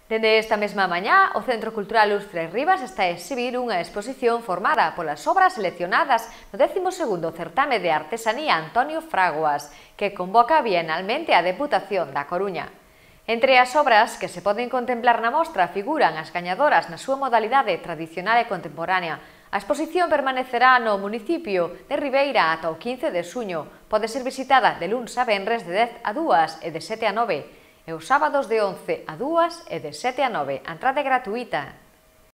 Dende esta mesma mañá, o Centro Cultural Luz Tres Rivas está a exhibir unha exposición formada polas obras seleccionadas no 12º Certame de Artesanía Antonio Fraguas, que convoca bienalmente a Deputación da Coruña. Entre as obras que se poden contemplar na mostra figuran as gañadoras na súa modalidade tradicional e contemporánea. A exposición permanecerá no municipio de Ribeira ata o 15 de xuño. Pode ser visitada de luns a venres de 10 a 2 e de 7 a 9. E os sábados de 11 a 2 e de 7 a 9. A entrada é gratuíta.